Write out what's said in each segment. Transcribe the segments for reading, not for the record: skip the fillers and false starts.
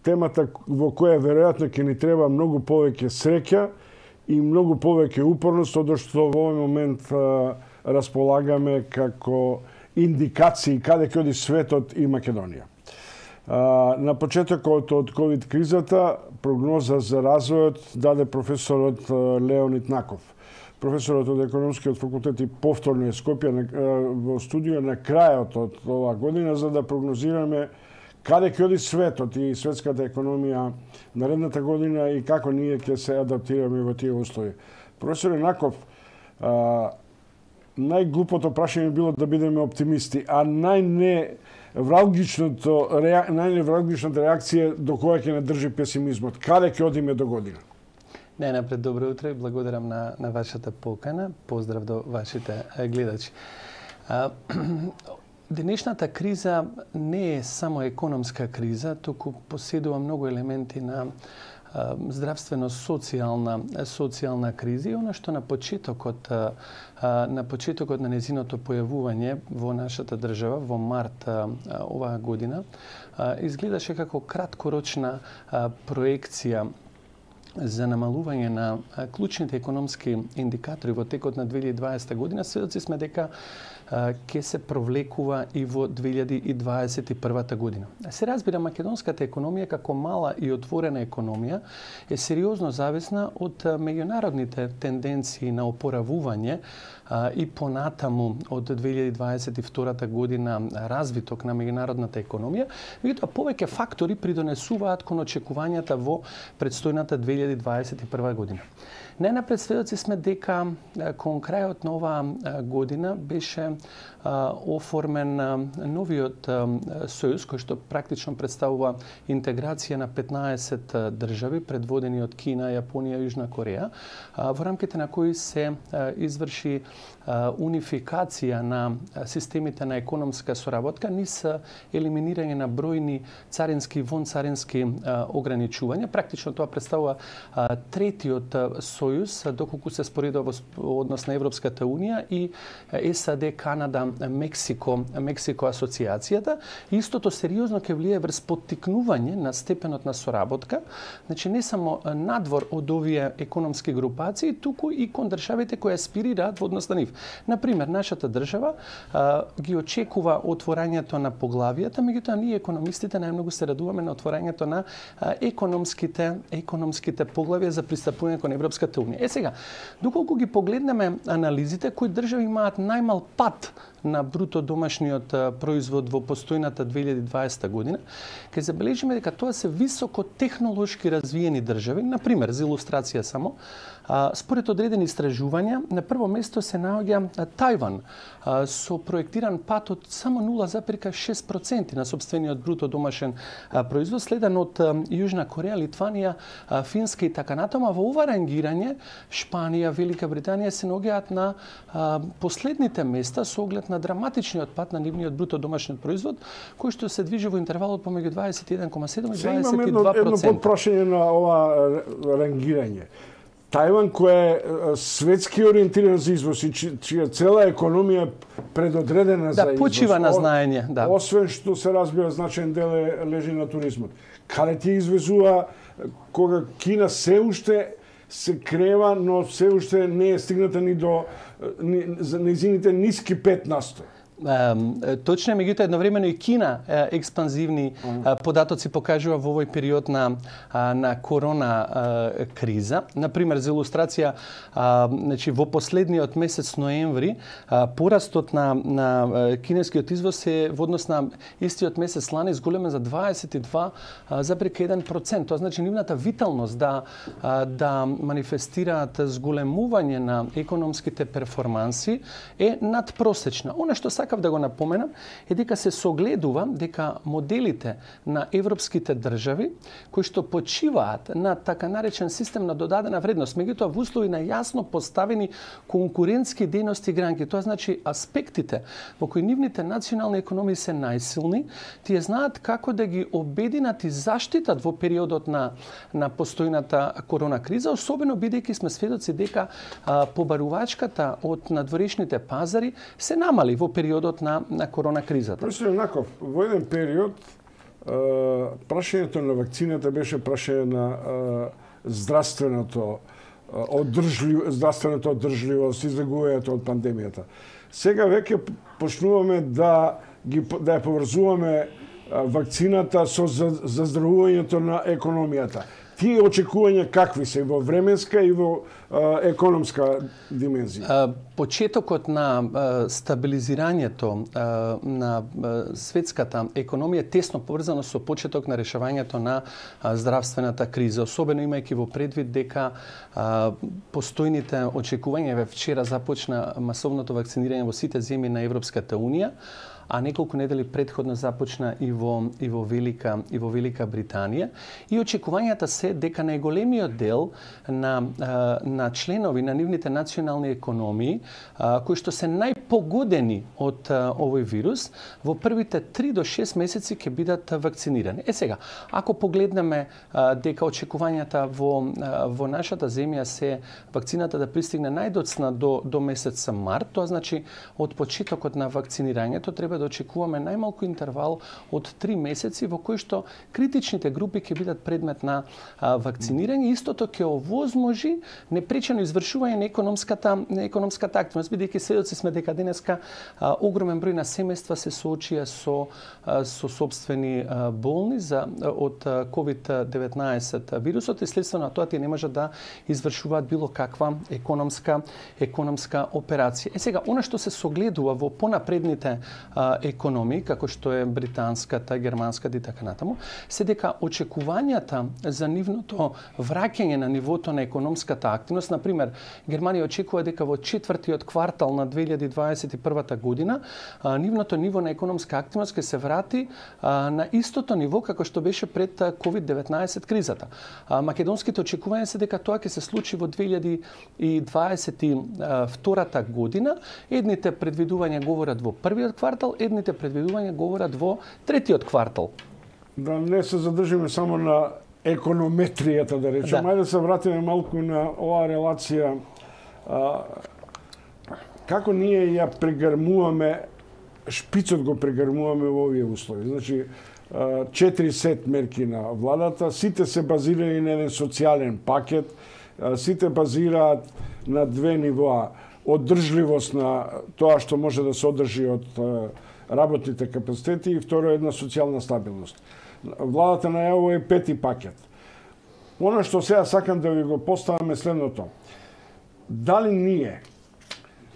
темата во која веројатно ќе ни треба многу повеќе среќа и многу повеќе упорност од што во овој момент располагаме како индикации каде ќе оди светот и Македонија. На почетокот од ковид кризата прогноза за развојот даде професорот Леонид Наков. Професорот од економскиот факултет и повторно е Скопје во студио на крајот од оваа година за да прогнозираме каде ќе оди светот и светската економија наредната година и како ние ќе се адаптираме во тие услови. Професор Наков, најглупото прашање било да бидеме оптимисти, а најневралгичната реакција до која ќе не држи песимизмот. Каде ќе одиме до година? Најнапред добро утро и благодарам на вашата покана. Поздрав до вашите гледачи. Денешната криза не е само економска криза, туку поседува многу елементи на здравствено-социјална криза и она што на почетокот на незиното појавување во нашата држава во март оваа година изгледаше како краткорочна проекција за намалување на клучните економски индикатори во текот на 2020 година. Сведоци сме дека ќе се провлекува и во 2021 година. Се разбира, македонската економија како мала и отворена економија е сериозно зависна од меѓународните тенденции на опоравување и понатаму од 2022 година развиток на меѓународната економија, меѓутоа повеќе фактори придонесуваат кон очекувањата во предстојната 2021 година. Најнапред сведоци сме дека кон крајот на оваа година беше оформен новиот сојуз кој што практично представува интеграција на 15 држави предводени од Кина, Јапонија и Јужна Кореја, во рамките на кои се изврши унификација на системите на економска соработка низ елиминирање на бројни царински и вонцарински ограничувања. Практично тоа представува третиот сојуз доколку се споредува во однос на Европската унија и САД, Канада, Мексико асоциацијата. Истото сериозно ќе влие врз поттикнување на степенот на соработка, значи не само надвор од овие економски групации, туку и кон државите кои аспирираат во однос на нив. Например, нашата држава ги очекува отворањето на поглавијата, меѓутоа ние економистите најмногу се радуваме на отворањето на економските поглавија за пристапување кон Европската унија. Сега, доколку ги погледнеме анализите, кои држави имаат најмал пат на бруто домашниот производ во постојната 2020 година, ќе забележиме дека тоа се високо технолошки развиени држави. Например, за илустрација само, според одредени истражувања, на прво место се наоѓа Тајван со проектиран пат од само 0,6% на сопствениот бруто домашен производ, следен од Јужна Кореја, Литванија, Финска и така натаму. Во ова рангирање Шпанија, Велика Британија се наоѓаат на последните места со оглед на драматичниот пат на нивниот бруто домашен производ, кој што се движи во интервалот помеѓу 21,7 и 22%. Имам едно подпрашање на ова рангирање. Тајван, кој е светски ориентиран за извоз и чија цела економија предодредена за извоз. Почива на знаење, да. Освен што се разбира значаен дел лежи на туризмот. Каде ти извезува кога Кина се уште се крева, но се уште не е стигната ни до нејзините ниски 5%. Точно е, меѓутоа едновремено и Кина експанзивни податоци покажува во овој период на корона криза. Например, за илустрација, значи во последниот месец ноември порастот на кинескиот извоз е во однос на истиот месец лани зголемен за 22,1%. Тоа значи нивната виталност да манифестираат зголемување на економските перформанси е надпросечна. Она што сакав да го напоменам е дека се согледува дека моделите на европските држави кои што почиваат на така наречен систем на додадена вредност, меѓутоа во услови на јасно поставени конкурентски дејности гранки, тоа значи аспектите во кои нивните национални економии се најсилни, тие знаат како да ги обединат и заштитат во периодот на постојната корона криза, особено бидејќи сме сведоци дека побарувачката од надворешните пазари се намали во периодот на корона кризата. Професор Наков, во еден период прашањето на вакцината беше прашање на здравствената одржливост, излегувањето од пандемијата. Сега веќе почнуваме да ја поврзуваме вакцината со заздравувањето на економијата. Тие очекувања какви се во временска и во економска димензија? Почетокот на стабилизирањето на светската економија тесно поврзано со почеток на решавањето на здравствената криза, особено имајќи во предвид дека постојните очекувања, вчера започна масовното вакцинирање во сите земји на Европската унија, а неколку недели предходно започна и во Велика Британија. И очекувањата се дека најголемиот дел на членови на нивните национални економии, кои што се најпогодени од овој вирус, во првите 3 до 6 месеци ќе бидат вакцинирани. Сега, ако погледнеме дека очекувањата во нашата земја се вакцината да пристигне најдоцна до месец март, тоа значи од почетокот на вакцинирањето треба да очекуваме најмалку интервал од 3 месеци во кои што критичните групи ќе бидат предмет на вакцинирање. Истото ќе овозможи непречено извршување на економската активност, бидејќи сведоци сме дека денеска огромен број на семејства се соочија со сопствени болни од COVID-19 вирусот и следствено тоа тие не можат да извршуваат било каква економска операција. Сега, она што се согледува во понапредните економии, како што е британската, германската и така натаму, се дека очекувањата за нивното враќање на нивото на економската активност, например, Германија очекува дека во четвртиот квартал на 2021 година нивното ниво на економска активност ќе се врати на истото ниво како што беше пред COVID-19 кризата. Македонските очекувања се дека тоа ќе се случи во 2022 година. Едните предвидувања говорат во првиот квартал, едните предвидувања говорат во третиот квартал. Да не се задржиме само на економетријата, да речем. Ајде да се вратиме малку на оваа релација. Како ние ја прегрмуваме, шпицот го прегрмуваме во овие услови. Значи, 4 сет мерки на владата, сите се базирани на еден социјален пакет, сите базираат на 2 нивоа. Одржливост на тоа што може да се одржи од работните капацитети и второ една социјална стабилност. Владата најавува 5-ти пакет. Оно што сега сакам да ви го поставаме следното. Дали ние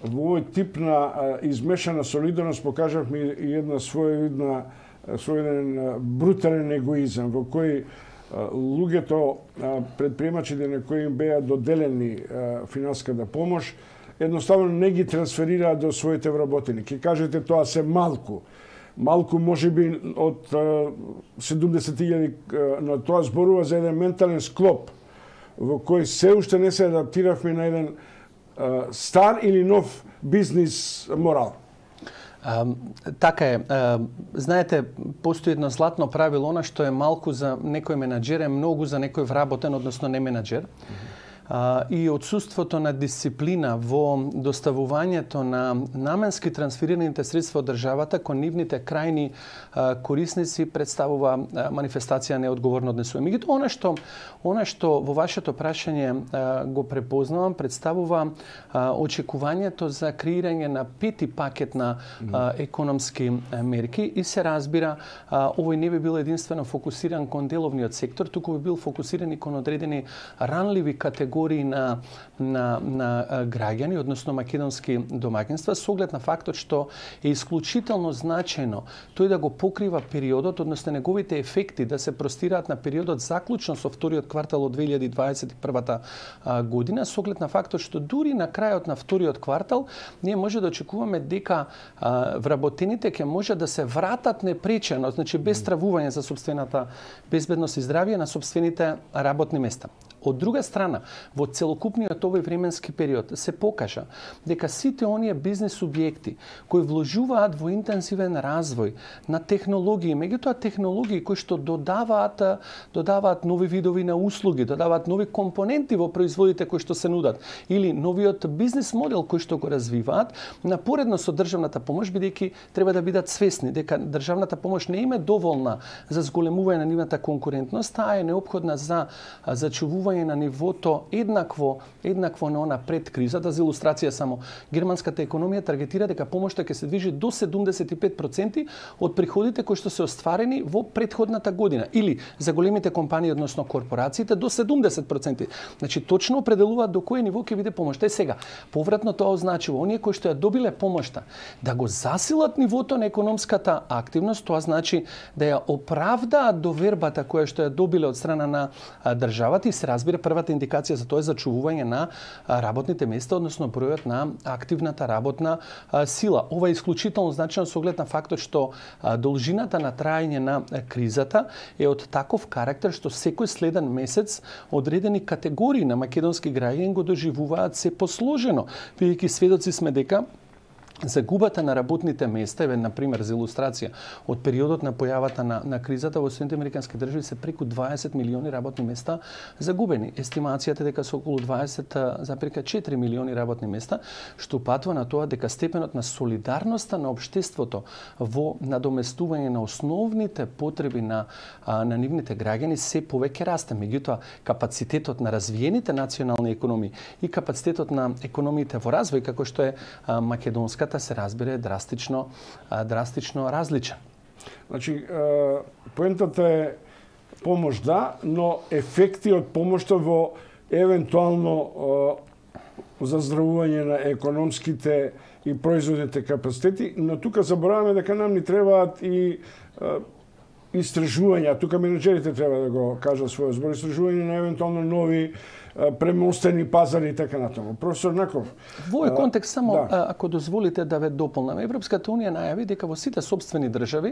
во овој тип на измешана солидарност покажавме и една својден брутален егоизам во кој луѓето, предприемачите на кои им беа доделени финансската помош, едноставно не ги трансферираат до своите вработени. Ке кажете тоа се малку. Малку можеби од 70.000, но тоа зборува за еден ментален склоп во кој се уште не се адаптиравме на еден стар или нов бизнис морал. Така е. Знаете, постои едно златно правило, она што е малку за некој менаџер е многу за некој вработен, односно не менаџер. И отсуството на дисциплина во доставувањето на наменски трансферираните средства од државата кон нивните крајни корисници представува манифестација неодговорно однесување. Меѓутоа, она што во вашето прашање го препознавам, представува очекувањето за креирање на 5-ти пакет на економски мерки и се разбира, овој не би бил единствено фокусиран кон деловниот сектор, туку би бил фокусиран и кон одредени ранливи категории на граѓани, односно македонски домаќинства, со оглед на фактот што е исклучително значајно тој да го покрива периодот, односно неговите ефекти да се простираат на периодот заклучно со вториот квартал од 2021 година, со оглед на фактот што дури на крајот на вториот квартал ние може да очекуваме дека вработените ќе може да се вратат непречено, значи без стравување за сопствената безбедност и здравје на сопствените работни места. Од друга страна, во целокупниот овој временски период се покажа дека сите оние бизнис субјекти кои вложуваат во интензивен развој на технологии, меѓутоа технологии кои што додаваат нови видови на услуги, додаваат нови компоненти во производите кои што се нудат или новиот бизнис модел кој што го развиваат, напоредно со државната помош, бидејќи треба да бидат свесни дека државната помош не им е доволна за зголемување на нивната конкурентност, таа е неопходна за зачувување на нивото еднакво на она пред кризата. За илустрација само, германската економија таргетира дека помошта ќе се движи до 75% од приходите кои што се остварени во претходната година, или за големите компании, односно корпорациите, до 70%. Значи точно определуваат до кое ниво ќе биде помошта. Сега, повратно тоа означува оние кои што ја добиле помошта да го засилат нивото на економската активност, тоа значи да ја оправдаат довербата која што ја добиле од страна на државата, и се разбира првата индикација за тоа е зачувување на работните места, односно бројот на активната работна сила. Ова е исклучително значено со оглед на фактот што должината на траење на кризата е од таков карактер што секој следен месец одредени категории на македонски граѓани го доживуваат се посложено, бидејќи сведоци сме дека загубата на работните места, на пример за илустрација, од периодот на појавата на кризата во Соединетите американски држави се преку 20 милиони работни места загубени. Естимацијата е дека се околу 20,4 милиони работни места, што упатува на тоа дека степенот на солидарноста на општеството во надоместување на основните потреби на нивните граѓани се повеќе расте. Меѓутоа, капацитетот на развиените национални економии и капацитетот на економиите во развој, како што е македонската, се разбира драстично различен. Значи, поентата е помош да, но ефекти од помошта во евентуално заздравување на економските и производните капацитети, но тука забораваме дека нам ни требаат и истражувања, тука менеджерите треба да го кажат својот збор, истражување на евентуално нови премостени пазари и така натаму. Професор Наков. Во овој контекст само ако дозволите да ве дополнам, Европската унија најави дека во сите сопствени држави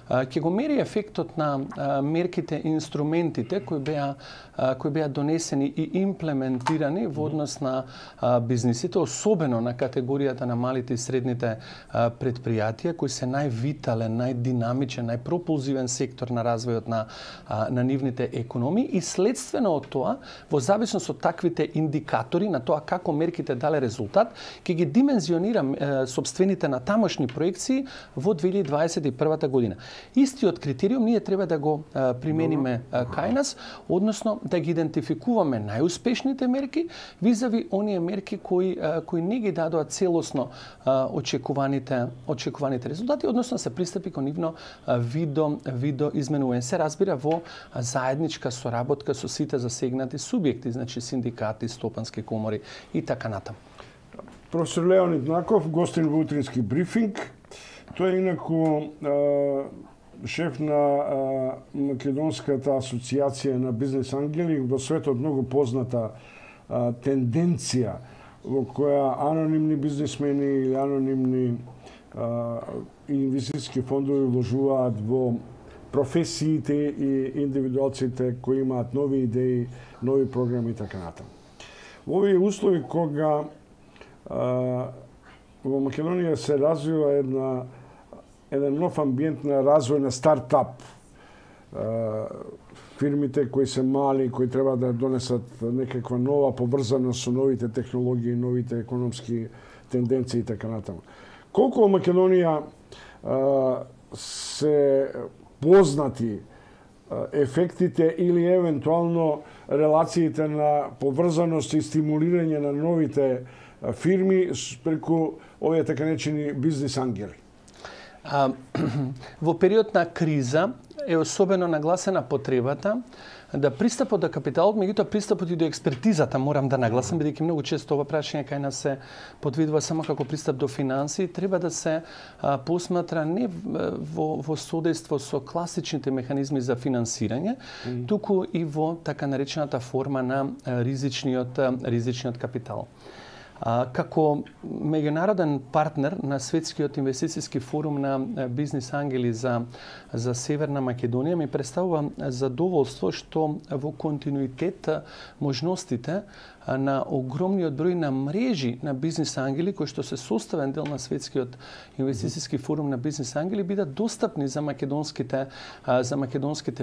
ќе го мери ефектот на мерките и инструментите кои беа донесени и имплементирани во однос на бизнисите, особено на категоријата на малите и средните предпријатија кои се највитален, најдинамичен, најпропулзивен сектор на развојот на нивните економии, и следствено од тоа, во зависност од таквите индикатори на тоа како мерките дале резултат, ќе ги димензионира сопствените на тамошни проекции во 2021 година. Истиот критериум ние треба да го примениме кај нас, односно да ги идентификуваме најуспешните мерки визави оние мерки кои не ги дадоа целосно очекуваните резултати, односно се пристапи кон нивно видо изменување. Се разбира во заедничка соработка со сите засегнати субјекти, значи синдикати, стопански комори и така натаму. Професор Леонид Наков, гостин во утрински брифинг. Тој е инаку шеф на Македонската асоциација на бизнес ангели, во светот многу позната тенденција во која анонимни бизнесмени или анонимни инвестициски фондови вложуваат во професиите и индивидуалците кои имаат нови идеи, нови програми и така натаму. Во овие услови кога во Македонија се развива еден нов амбиент на развој на стартап, фирмите кои се мали, кои треба да донесат некаква нова поврзаност со новите технологии, новите економски тенденции и така натаму. Колку во Македонија се познати ефектите или евентуално релациите на поврзаност и стимулирање на новите фирми преку овие така наречени бизнес ангели? Во период на криза е особено нагласена потребата да пристапот до капиталот, меѓутоа пристапот и до експертизата, морам да нагласам, бидејќи многу често ова прашање кај нас се подвидува само како пристап до финанси, треба да се посматра не во содейство со класичните механизми за финансирање, туку и во така наречената форма на ризичниот капитал. Како меѓународен партнер на Светскиот инвестициски форум на бизнис ангели за Северна Македонија ми представува задоволство што во континуитет можностите на огромниот број на мрежи на бизнис ангели кои што се составен дел на Светскиот инвестициски форум на бизнис ангели бидат достапни за македонските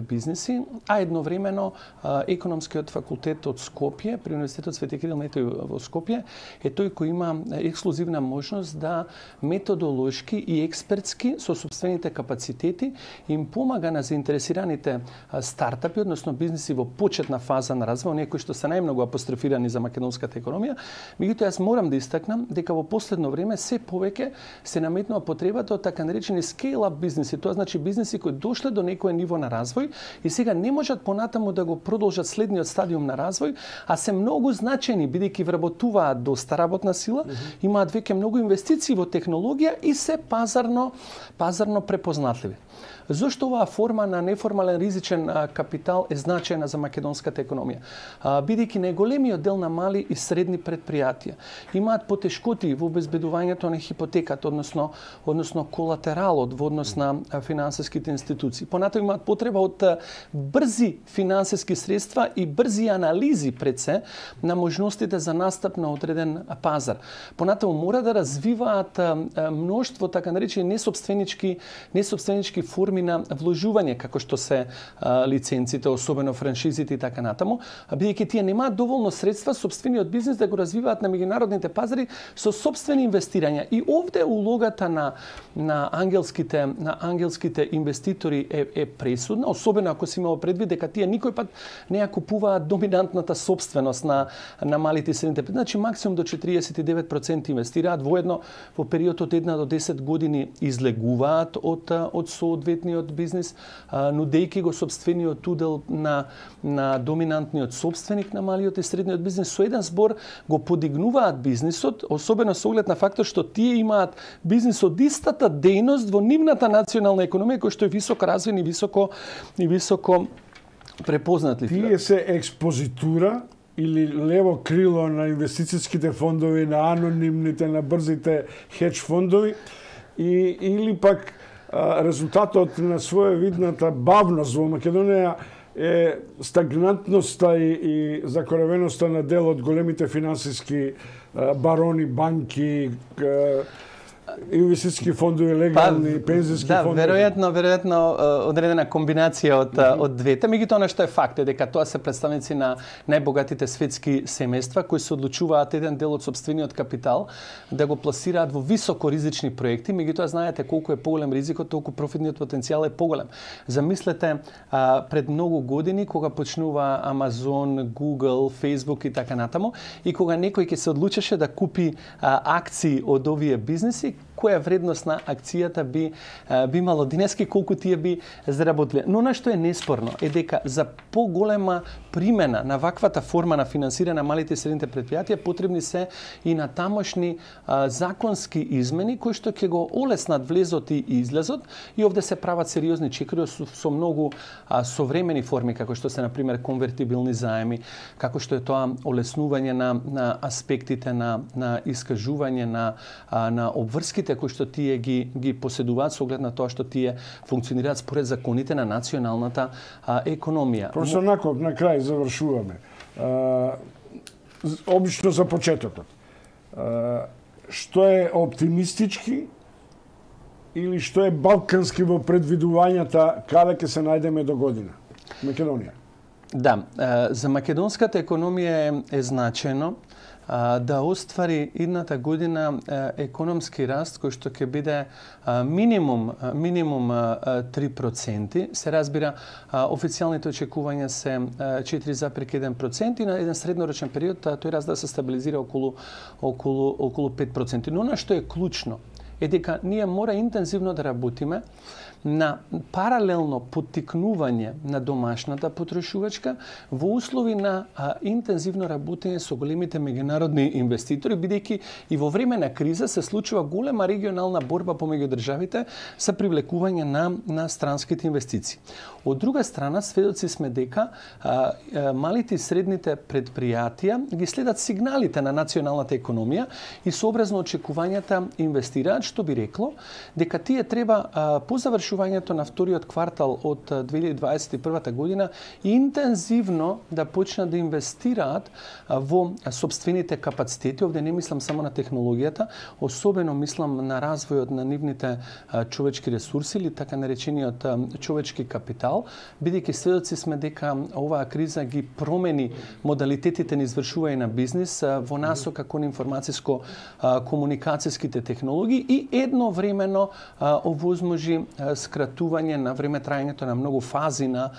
бизниси, а едновремено економскиот факултет од Скопје при Универзитетот Свети Кирил Метој во Скопје е тој кој има ексклузивна можност да методолошки и експертски со сопствените капацитети им помага на заинтересираните стартапи, односно бизниси во почетна фаза на развој, оние кои што се најмногу апострофирани за македонската економија. Меѓутоа, јас морам да истакнам дека во последно време се повеќе се наметнува потребата од така наречени scale-up бизниси. Тоа значи бизниси кои дошле до некое ниво на развој и сега не можат понатаму да го продолжат следниот стадиум на развој, а се многу значени бидејќи вработуваат доста работна сила, имаат веќе многу инвестиции во технологија и се пазарно препознатливи. Зошто оваа форма на неформален ризичен капитал е значајна за македонската економија? Бидејќи најголемиот дел на мали и средни предпријатија имаат потешкоти во обезбедувањето на хипотеката, односно колатералот во однос на финансиските институции. Понатаму имаат потреба од брзи финансиски средства и брзи анализи пред се на можностите за настап на одреден пазар. Понатаму мора да развиваат мноштво така наречени несопственички форми на вложување, како што се лиценците, особено франшизите и така натаму, бидејќи тие немаат доволно средства сопствениот бизнис да го развиваат на меѓународните пазари со сопствени инвестирања. И овде улогата на ангелските инвеститори е пресудна, особено ако се имало предвид дека тие никој пат не ја купуваат доминантната собственост на малите и средните предпријатија. Значи максимум до 49% инвестираат, воедно во период од 1 до 10 години излегуваат од соодветниот бизнис, нудејќи го сопствениот удел на доминантниот собственик на малиот и средниот бизнис. Со еден збор го подигнуваат бизнисот, особено со оглед на фактот што тие имаат бизнис од истата дејност во нивната национална економија, кој што е високо развиен и високо препознатлив. Тие се експозитура или лево крило на инвестицијските фондови, на анонимните, на брзите хедж фондови, или пак резултатот на своевидната бавност во Македонија е стагнантноста и закоравеноста на дел од големите финансиски барони, банки, инвестициски фондови, легални, пензиски фондови. Веројатно одредена комбинација од двете. Меѓутоа, она што е факт е дека тоа се представници на најбогатите светски семејства кои се одлучуваат еден дел од сопствениот капитал да го пласираат во високо ризични проекти. Меѓутоа, знаете колку е поголем ризикот, толку профитниот потенцијал е поголем. Замислете пред многу години кога почнува Амазон, Google, Facebook и така натаму, и кога некој ќе се одлучеше да купи акции од овие бизниси, која вредност на акцијата би имало денески, колку тие би заработиле. Но она што е неспорно е дека за поголема примена на ваквата форма на финансирање на малите и средните предпријатија потребни се и на тамошни законски измени кои што ќе го олеснат влезот и излезот, и овде се прават сериозни чекори со многу современи форми, како што се на пример конвертибилни заеми, како што е тоа олеснување на аспектите на искажување на обврските кои што тие ги поседуваат со оглед на тоа што тие функционираат според законите на националната економија. Професор Наков, на крај завршуваме. Обично за почетокот. Што е оптимистички или што е балкански во предвидувањата каде ќе се најдеме до година? Македонија. Да, за македонската економија е значајно да оствари идната година економски раст кој што ќе биде минимум 3%. Се разбира, официјалните очекувања се 4,1% и на еден среднорочен период тој раст да се стабилизира околу 5%. Но она што е клучно е дека ние мора интензивно да работиме на паралелно поттикнување на домашната потрошувачка во услови на интензивно работење со големите меѓународни инвеститори, бидејќи и во време на криза се случува голема регионална борба помеѓу државите за привлекување на странските инвестиции. Од друга страна, сведоци сме дека малите и средните предпријатија ги следат сигналите на националната економија и сообразно очекувањата инвестираат, што би рекло дека тие треба по завршувањето на вториот квартал од 2021 година интензивно да почнат да инвестираат во собствените капацитети. Овде не мислам само на технологијата, особено мислам на развојот на нивните човечки ресурси или така наречениот човечки капитал, бидејќи сведоци сме дека оваа криза ги промени модалитетите на извршување на бизнис во насока кон информатиско-комуникацијските технологии и едновремено овозможи скратување на време трајањето на многу фази на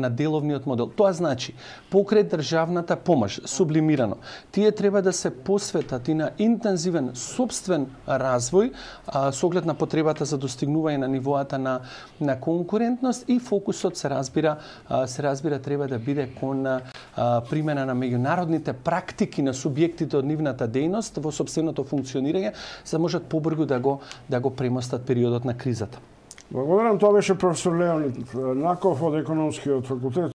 деловниот модел. Тоа значи, покрај државната помош, сублимирано, тие треба да се посветат и на интензивен собствен развој со оглед на потребата за достигнување на нивоата на конкурентност и фокусот се разбира треба да биде кон примена на меѓународните практики на субјектите од нивната дејност во сопственото функционирање, за да можат побрзо да го премостат периодот на кризата. Благодарам, тоа беше професор Леонид Наков од Економскиот факултет.